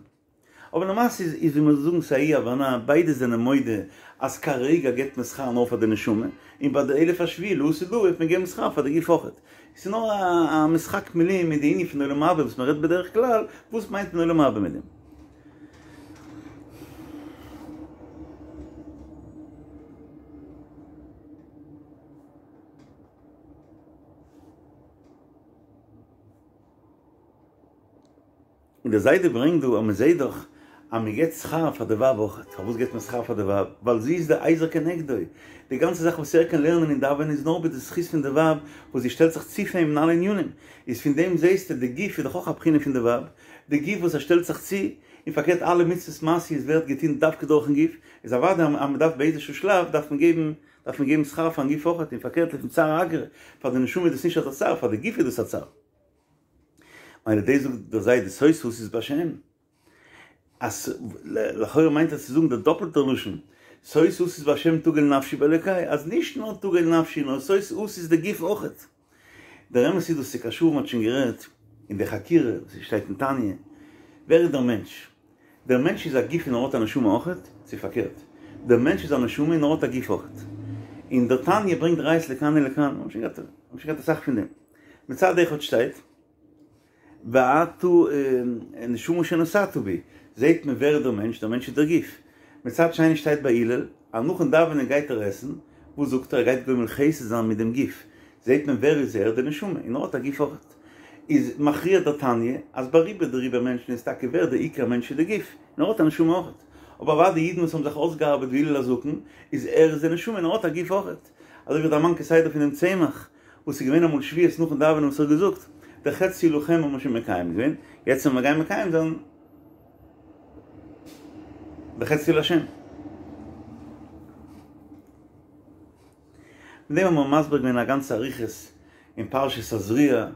אבער למעשה איז איז ווי מ'זאל זאגן ס'איז א אי הבנה, ביידע זענען מודה אז כרגע געבט מען שכר נאר פאר די נשמה, און ביי די אלף השביעי לעתיד לבא וועט מען געבן שכר פאר די גוף אויכעט. ס'איז נאר א משחק מילים מיט די ענין פון עולם הבא וואס מ'רעדט בדרך כלל, וואס מיינט מען עולם הבא מיט דעם? און דער זיידע ברענגט דא אז מען זעט דאך אז מען געבט שכר פאר די ווייב אויך, פארוואס געבט מען שכר פאר די ווייב? ווייל זי איז די עזר כנגדו, די גאנצע זאך וואס ער קען לערנען און דאווענען איז נאר מיט די זכות פון די ווייב וואס זי שטעלט זיך צו פאר אים אין אלע ענינים, איז פון דעם זעסטו די גוף איז דאך אויך א בחינה פון די ווייב, די גוף וואס ער שטעלט זיך צו, און פארקערט אלע מצוות מעשיות ווערט געטון דווקא דורכן גוף, איז אוודאי אז מען דארף באיזשהו שלב דארף מען געבן דארף מען געבן שכר פארן גוף אויכעט, און פארקערט לפום צערא אגרא, פאר די נשמה איז דאס נישט אזא צער, פאר די גוף איז דאס א צער. מילא דאס זאגט דער זיידע שא תשיש בהשם. אז לכאורה מיינט ער צו זאגן די דאפלטע לשון, שוש אשיש בהשם תגל נפשי באלוקי, אז נישט נאר תגל נפשי נאר שוש אשיש די גוף אויכעט. דער אמת איז דאס איז קשור מ'האט שוין גערעדט אין די חקירה וואס עס שטייט אין תניא, ווער איז דער מענטש? דער מענטש איז א גוף און ער האט א נשמה אויכעט, צו פארקערט, דער מענטש איז א נשמה און ער האט א גוף אויכעט. און דער תניא ברענגט ראיות לכאן ולכאן, מ'האט שוין געהאט מ'האט שוין געהאט אסאך פון דעם. מצד אחד שטייט. ואתה נשמה שנתת בי, זעהט מען ווער איז דער מענטש, דער מענטש איז דער גוף. מצד שני שטייט ביי הלל, אז נאכן דאווענען גייט ער עסן, וואס זאגט ער, ער גייט גומל חסד זיין מיט דעם גוף, זעהט מען ווער איז ער, די נשמה, און ער האט א גוף אויכעט. איז מכריע דער תניא, אז ביי רובא דרובא מענטשן איז טאקע ווער דער עיקר מענטש איז די גוף, און ער האט א נשמה אויכעט. אבער אוודאי אידן וואס האבן זיך אויסגעארבעט ווי הלל הזקן, איז ער איז די נשמה און ער האט א גוף אויכעט. אזוי ווי דערמאנט כסדר פונעם צמח, וואס איז געווען אמאל שבועות נאכן דאווענען וואס ער האט געזאגט, דער חצי לכם האבן מיר שוין מקיים געווען, יעצט וועלן מיר גיין מקיים זיין די חצי להשם. מיט דעם האבן מיר מסביר געווען א גאנצע אריכות אין פרשת תזריע,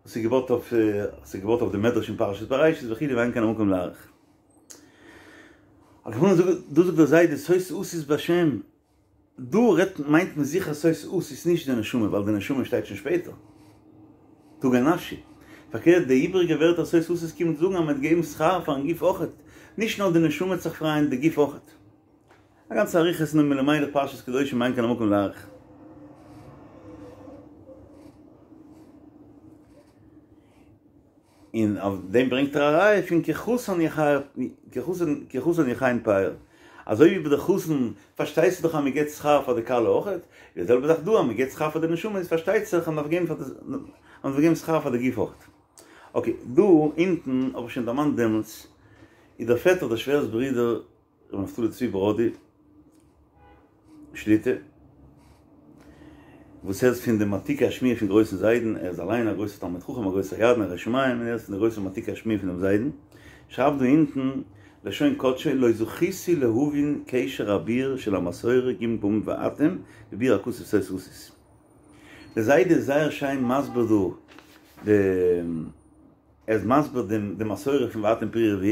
וואס איז געבויט אויף, וואס איז געבויט אויף די מדרש אין פרשת בראשית וכו' ואין כאן המקום להאריך. על כל פנים דא זאגט דער זיידע שוש אשיש בהשם, דא רעדט מיינט מען זיכער שוש אשיש נישט די נשמה ווייל די נשמה שטייט שוין שפעטער תגל נפשי, פארקערט די איבריגע ווערטער שוש אשיש קומט זאגן אז מען וועט געבן שכר פארן גוף אויכעט, נישט נאר די נשמה וועט זיך פרייען די גוף אויכעט. א גאנצע אריכות אין נועם אלימלך פרשת קדושים ואין כאן המקום להאריך. און אויף דעם ברענגט ער א ראיה פון כחתן כחתן יכין פאר, אזוי ווי ביי די חתן פארשטייסטו דאך אז מען געבט שכר פאר די כלה אויכעט, איז די זעלבע זאך דא אז מען געבט שכר פאר די נשמה איז פארשטייט זיך אז מען דארף געבן פאר די אז מען דארף געבן שכר פאר די גוף אויכעט. אקעי, דא אונטן האב איך שוין דערמאנט דעמאלטס, איז דער פעטער דער שווער'ס ברודער ר' נפתלי צבי בראדי שליט"א, וואס ער איז פון די מעתיקי השמועה פון גרויסן זיידן, ער איז אליין א גרויסער תלמיד חכם א גרויסער ידען א ירא שמים, און ער איז פון די גרויסע מעתיקי השמועה פונעם זיידן, שרייבט דא אונטן לשון קדשו לא זכיתי להבין קשר הביאור של המסורה ג' פעמים ואתם בביאור הכתוב שוש אשיש. דער זיידע איז זייער שיין מסביר דא די. ער איז מסביר דעם די מסורה פון ואתם פרו ורבו,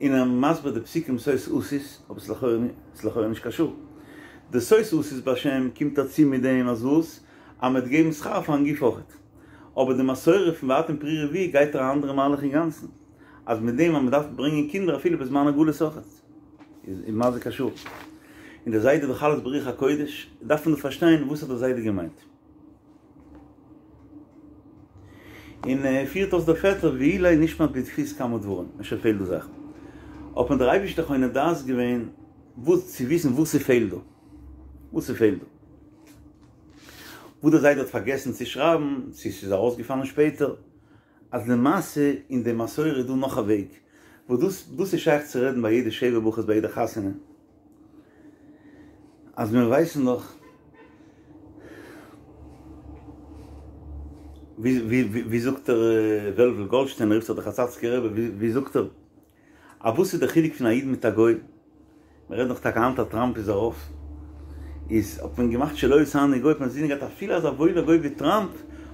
און ער מסביר די פסוקים שוש אשיש, אבער ס'איז לכאורה ס'איז לכאורה נישט קשור. די שוש אשיש בהשם קומט ער צו מיט דעם אז וואס? אז מ'וועט געבן שכר פארן גוף אויכעט. אבער די מסורה פון ואתם פרו ורבו גייט ער א אנדערע מהלך אינגאנצן, אז מיט דעם אז מ'דארף ברענגען קינדער אפילו בזמן הגלות אויכעט. איז מה זה קשור? און דער זיידע דאך אלעס ברוח הקודש, דארף מען דא פארשטיין וואס האט דער זיידע געמיינט. און ער פירט אויס דער פעטער ואולי נשמט בדפוס כמה דברים, אפשר פעלט דא זאכן. האט מיר דער אייבערשטער חונן דעת געווען וואס צו וויסן וואס ס'פעלט דא. וואס ס'פעלט דא. וואס דער זיידע האט פארגעסן צו שרייבן, צו ס'איז ארויסגעפאלן שפעטער, אז למעשה אין די מסורה איז דא נאך א וועג, וואס דאס דאס איז שייך צו רעדן ביי יעדע שבע ברכות ביי יעדע חתונה, אז מיר ווייסן דאך ווי ווי ווי זאגט ער וועלוול גאלדשטיין רופט זיך דער חצאצקער רבי ווי זאגט ער א וואס איז די חילוק פון א איד מיט א גוי? מען רעדט דאך טאקע היינט אז טראמפ איז ארויף, איז האט מען געמאכט שלא עשני גוי, האט מען אינזין געהאט אפילו אזא וואוילער גוי ווי טראמפ,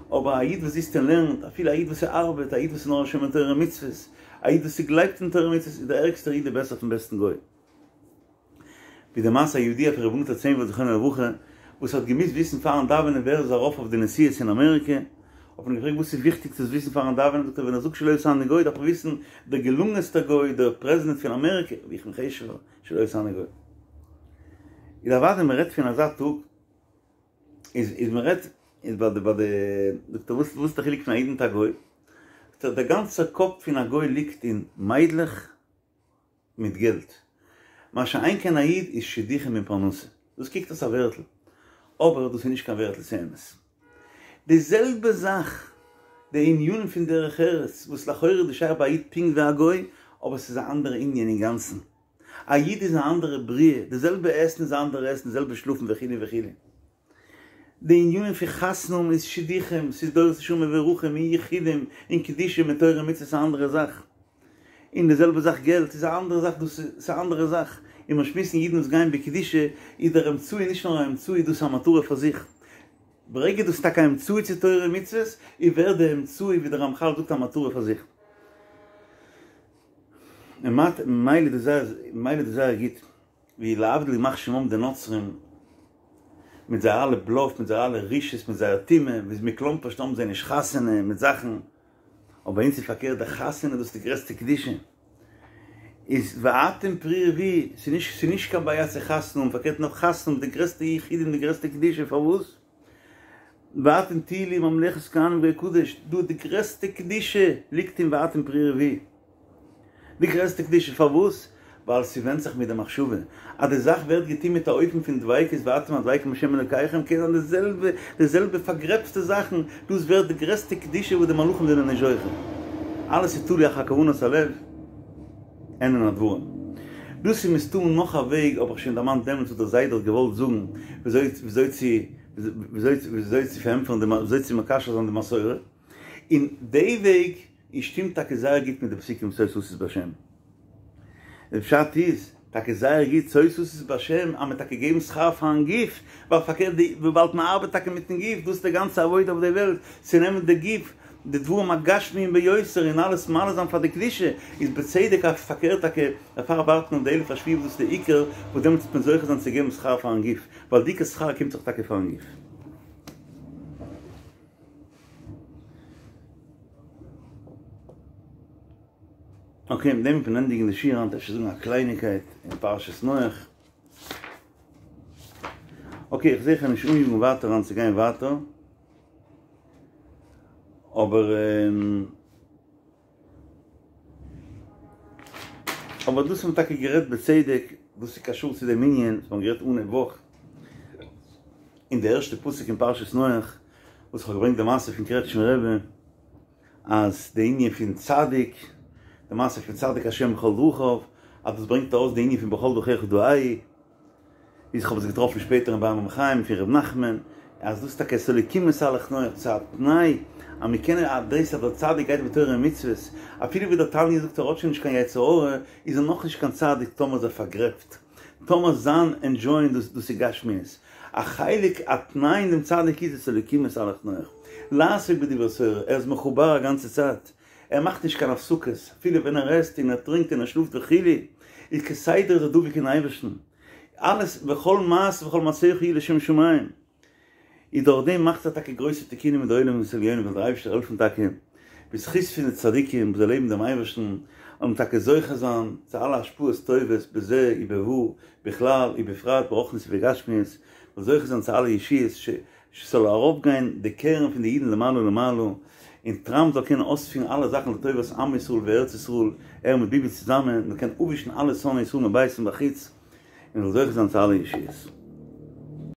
אבער א איד וואס זיצט און לערנט, אפילו א איד וואס ארבעט, א איד וואס איז נאר א שומר תורה ומצוות, א איד וואס גלייבט אין תורה ומצוות, איז דער ערגסטער איד דער בעסער פון בעסטן גוי. ווי די מעשה הידוע פון ר' נטע צעהנווירט זכרונו לברכה, וואס האט געמוזט וויסן פארן דאווענען ווער איז ארויף אויף די נשיאות אין אמעריקע, האט מען געפרעגט וואס איז וויכטיג צו וויסן פארן דאווענען, זאגט ער ווען איך זאג שלא עשני גוי דארף איך וויסן דער געלונגענסטער גוי, דער פרעזידענט פון אמעריקע, ווי איך בין חשוב'ער, שלא עשני גוי. איז אוודאי מען רעדט פון אזא טאג, איז איז מען רעדט איז ביי די ביי די זאגט ער וואס וואס איז די חילוק פון א איד מיט א גוי, זאגט ער דער גאנצער קאפ פון א גוי ליגט אין מיידלעך, מיט געלט. מה שאין כן א איד איז שידוכים און פרנסה. דאס קוקט אויס א ווערטל. אבער דאס איז נישט קיין ווערטל ס'איז אמת. די זעלבע זאך די ענינים פון דרך ארץ וואס לכאורה איז דאס שייך ביי א איד פונקט ווי א גוי, אבער ס'איז א אנדערע ענין אינגאנצן. א איד איז א אנדערע בריאה, די זעלבע עסן איז א אנדערע עסן, די זעלבע שלאפן וכו' וכו'. די ענינים פון חתונה האבן איז שידוכים, ס'איז דורות נשמה ורוחים און יחודים און קדושה מיט תורה ומצוות איז א אנדערע זאך. און די זעלבע זאך געלט איז א אנדערע זאך דאס איז א אנדערע זאך. און מיר שמועסן אידן וואס גייען בקדושה איז דער אמצעי נישט נאר א אמצעי דאס איז א מטרה פאר זיך. ברגע דאס איז טאקע א אמצעי צו תורה און מצוות איז ווערט די אמצעי ווי דער רמחל זאגט א מטרה פאר זיך. ממילא איז דאס זייער גוט, ווי להבדיל ימח שמם די נוצרים, מיט זייער אלע בלאף, מיט זייער אלע רשעות, מיט זייער טומאה, ווי מכלומרשט האבן זיי נישט חתונה מיט זאכן, אבער ביי אונז איז פארקערט די חתונה דאס איז די גרעסטע קדושה, איז ואתם פרו ורבו, ס'איז נישט ס'איז נישט קיין בעיה צו חתונה האבן, פארקערט נאך חתונה האבן די גרעסטע יחודים די גרעסטע קדושה, פארוואס? ואתם תהיו לי ממלכת כהנים וגוי קדוש, דא די גרעסטע קדושה ליגט אין ואתם פרו ורבו. די גרעסטע קדושה פארוואס? ווייל ס'ווענדט זיך מיט די מחשבה. אז די זאך ווערט געטון מיט א אופן פון דביקות ואתם הדבקים בהשם אלוקיכם קען זיין די זעלבע די זעלבע פארגרעבטע זאכן, דאס ווערט די גרעסטע קדושה וואס די מלאכים זענען נישט זוכה. אלעס איז תלוי אחר כוונת הלב, ענין הדברים. דאס איז מסתמא נאך א וועג האב איך שוין דערמאנט דעמאלטס וואס דער זיידע האט געוואלט זאגן וויאזוי וויאזוי צו וויאזוי וויאזוי צו פארענטפערן די וויאזוי צו מקשר זיין די מסורה. און די וועג איז שטימט טאקע זייער גוט מיט די פסוקים שא תשיש בהשם. די פשט איז טאקע זייער גוט שא תשיש בהשם אז מען טאקע געבן שכר פארן גוף, ווייל פארקערט די וויבאלד מען ארבעט טאקע מיטן גוף, דאס איז די גאנצע עבודה אויף די וועלט, צו נעמען די גוף, די דברים הגשמיים ביותר און אלעס מעלה זיין פאר די קדושה, איז בצדק אז פארקערט טאקע דערפאר ווארט מען אויף די אלף השביעי וואס דאס איז די עיקר, וואס דעמאלטס וועט מען זוכה זיין צו געבן שכר פארן גוף, ווייל די עיקר שכר קומט זיך טאקע פארן גוף. אקעי, מיט דעם וועט מען ענדיגן די שיעור היינט, אפשר זאגן א קלייניקייט אין פרשת נח. אקעי, איך זעה איך קען נישט אניאגן ווייטער היינט צו גיין ווייטער, אבער אבער דאס האט מען טאקע גערעדט בצדק, דאס איז קשור צו דעם ענין וואס מ'האט גערעדט אנהייב וואך, אין די ערשטע פסוק אין פרשת נח, וואס איך האב געברענגט די מעשה פון קרעטשמער רבי, אז די ענין פון צדיק, די מעשה פון צדיק השם בכל דרכיו, אז דאס ברענגט ארויס די ענין פון בכל דרכיך דעהו, ווי איך האב עס געטראפן שפעטער אין באר מים חיים פון ר' נחמן, אז דאס איז טאקע את האלקים התהלך נח, ס'איז א תנאי אז מען קען אז דאס אז דער צדיק גייט בתורה ומצוות, אפילו ווי דער תניא זאגט ער האט שוין נישט קיין יצר הרע, איז ער נאכנישט קיין צדיק טאמער איז ער פארגרעבט, טאמער זיין ענדזשויען דאס דאס איז גשמיות. א חלק א תנאי אין דעם צדיק איז את האלקים התהלך נח, לעסוק בדברי תורה, ער איז מחובר א גאנצע צייט, ער מאכט נישט קיין הפסקות, אפילו ווען ער עסט און ער טרינקט און ער שלאפט וכו', איז כסדר איז ער דבוק אין אייבערשטן, אלעס וכל מעשה וכל מעשיך יהיו לשם שמים, איז דורך דעם מאכט ער טאקע גרויסע תיקונים אין די עולמות עליונים זאל דער אייבערשטער העלפן טאקע בזכות פון די צדיקים וואס זיי לעבן דעם אייבערשטן זאל מען טאקע זוכה זיין צו אלע השפעות טובות בזה ובבא בכלל ובפרט ברוחניות ובגשמיות, זאל זוכה זיין צו אלע ישועות ס'זאל ארויפגיין די קרן פון די אידן למעלה למעלה, און טראמפ זאל קענען אויספירן אלע זאכן לטובת עם ישראל וארץ ישראל, ער מיט ביבי צוזאמען, מ'זאל קענען אפווישן אלע שונאי ישראל מבית ומבחוץ, און מ'זאל זוכה זיין צו אלע ישועות.